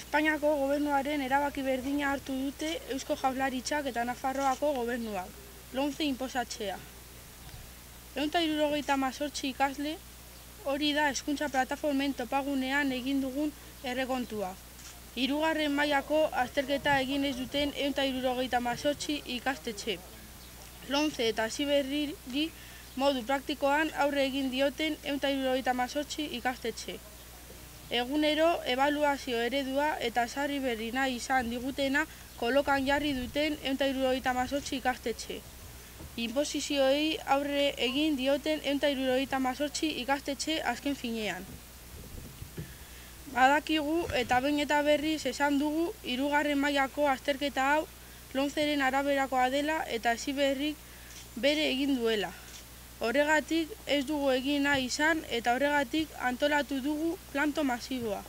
Espainiako gobernuaren erabaki berdina hartu dute Eusko Jaurlaritzak eta Nafarroako gobernuak, lomce inposatzea. 178 ikasle, hori da hezkuntza plataformen topagunean egin dugun errekontua. 3. mailako azterketa egin ez duten 178 ikastetxe. Lomce eta Heziberriri modu praktikoan aurre egin dioten 178 ikastetxe. Egunero ebaluazio eredua eta sarri berri nahi izan digutena kolokan jarri duten 178 ikastetxe. Inposizioei aurre egin dioten 178 ikastetxe azken finean. Badakigu eta behin eta berriz esan dugu 3. mailako azterketa hau lomceren araberakoa dela eta Heziberrik bere egin duela. Horregatik ez dugu egin nahi izan eta horregatik antolatu dugu planto masiboa.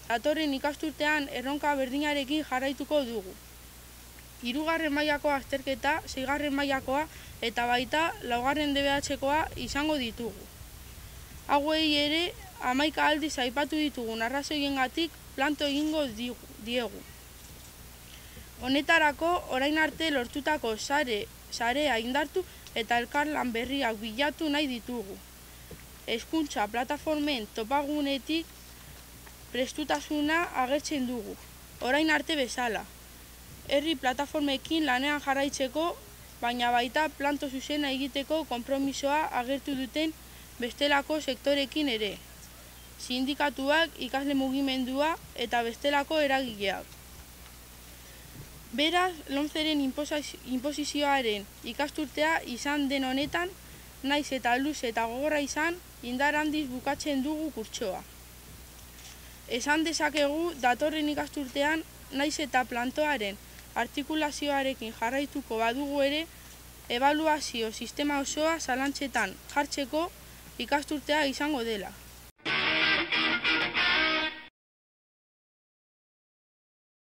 Datorren ikasturtean erronka berdinarekin jarraituko dugu. 3. mailako azterketa, 6. mailakoa eta baita 4. DBH-koa izango ditugu. Hauei ere 11 aldiz aipatu ditugun arrazoiengatik planto egingo diegu. Honetarako orain arte lortutako sarea indartu eta elkarlan berriak bilatu nahi ditugu. Hezkuntza plataformen topagunetik prestutasuna agertzen dugu, orain arte bezala. Herri plataformekin lanean jarraitzeko, baina baita planto zuzena egiteko konpromisoa agertu duten bestelako sektorekin ere. Sindikatuak, ikasle mugimendua eta bestelako eragileak. Beraz, lomceren inposizioaren ikasturtea izan den honetan, naiz eta luze eta gogorra izan, indar handiz bukatzen dugu kurtsoa. Esan dezakegu datorren ikasturtean, naiz eta plantoaren artikulazioarekin jarraituko badugu ere, ebaluazio sistema osoa zalantzetan jartzeko ikasturtea izango dela.